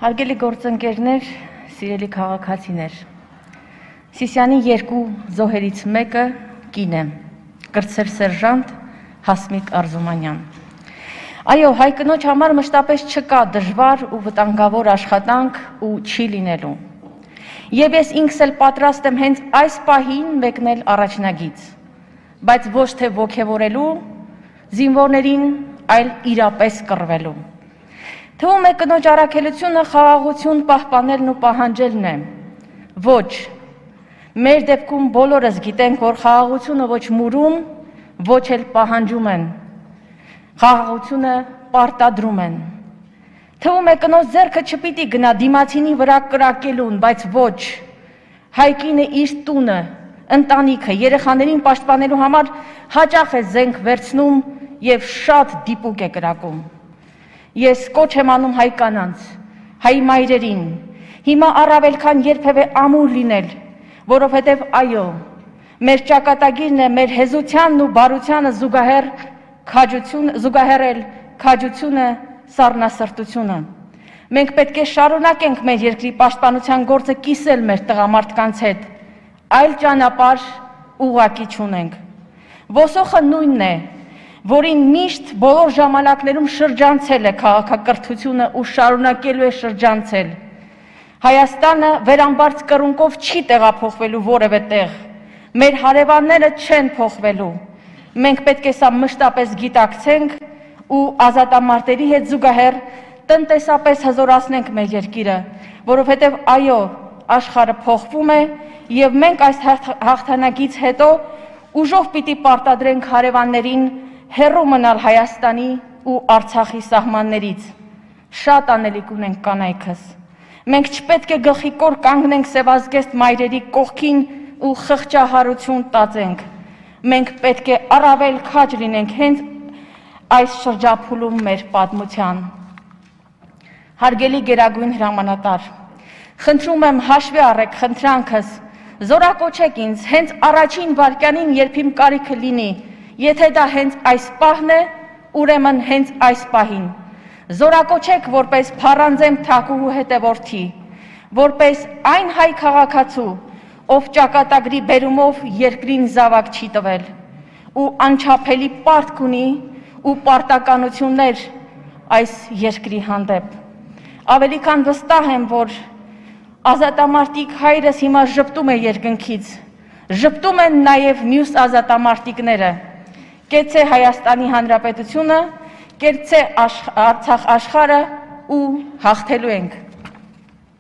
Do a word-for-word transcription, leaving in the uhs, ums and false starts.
Հարգելի գործընկերներ, սիրելի քաղաքացիներ, Սիսիանի երկու զոհերից մեկը կին է, կրտսեր սերժանտ Հասմիկ Արզումանյան։ Այո, հայ կնոջ համար մշտապես չկա դժվար ու վտանգավոր աշխատանք ու չի լինելու։ Եվ ես ինքս էլ պատրաստ եմ հենց այս պահին մեկնել առաջնագիծ, բայց ոչ թե ոգևորելու զինվորներին, այլ իրապես կռվելու։ Թվում է կնոջ առաքելությունը խաղաղություն պահպանելն ու պահանջելն է։ Ոչ, մեր դեպքում բոլորս գիտենք, որ խաղաղությունը ոչ մուրում, ոչ էլ պահանջում են, խաղաղությունը պարտադրում են։ Թվում է կնոջ ձեռքը չպիտի գնա դիմացինի վրա կրակելուն, բայց ոչ, հայկինը իր տունը, ընտանիքը, երեխաներին պաշտպանելու համար հաճախ է զենք վերցնում և շատ դիպուկ է կրակում։ Ես կոչ եմ անում հայ կանանց, հայ մայրերին, հիմա առավել քան երբևէ ամուր լինել, որովհետև այո, մեր ճակատագիրն է մեր հեզությանն ու բարությանը զուգահեռ զուգահեռել քաջությունը, սառնասրտությունը։ Մենք պետք է շարունակենք մեր երկրի պաշտպանության գործը կիսել մեր տղամարդկանց հետ, այլ ճանապարհ ուղղակի չունենք։ Ոսոխը նույնն է, որին միշտ բոլոր ժամանակներում շրջանցել է քաղաքակրթությունը ու շարունակելու է շրջանցել։ Հայաստանը վերամբարձ կռունկով չի տեղափոխվելու որևէ տեղ, մեր հարևանները չեն փոխվելու։ Մենք պետք է սա մշտապես գիտակցենք ու ազատամարտերի հետ զուգահեռ տնտեսապես հզորացնենք մեր երկիրը, որովհետև այո, աշխարհը փոխվում է եւ մենք այս հաղթանակից հետո ուժով պիտի պարտադրենք հարևաններին հեռու մնալ Հայաստանի ու Արցախի սահմաններից։ Շատ անելիք ունենք կանայքս։ Մենք չպետք է գլխիկոր կանգնենք սևազգեստ մայրերի կողքին ու խղճահարություն տածենք։ Մենք պետք է առավել քաջ լինենք հենց այս շրջափուլում մեր պատմության։ Հարգելի գերագույն հրամանատար, խնդրում եմ հաշվի առեք խնդրանքս, զորակոչեք ինձ հենց առաջին վայրկյանին, երբ իմ կարիքը լինի, եթե դա հենց այս պահն է, ուրեմն հենց այս պահին։ Զորակոչեք որպես փառանձեմ թակուհու հետևորդի, որպես այն հայ քաղաքացու, ով ճակատագրի բերումով երկրին զավակ չի տվել, ու անչափելի պարտք ունի ու պարտականություններ այս երկրի հանդեպ։ Ավելի քան վստահ եմ, որ ազատամարտիկ հայրս հիմա ժպտում է երկնքից, ժպտում են նաև մյուս ազատամարտիկները։ Կեցցե Հայաստանի Հանրապետությունը, կեցցե Արցախ աշխարհը ու հաղթելու ենք։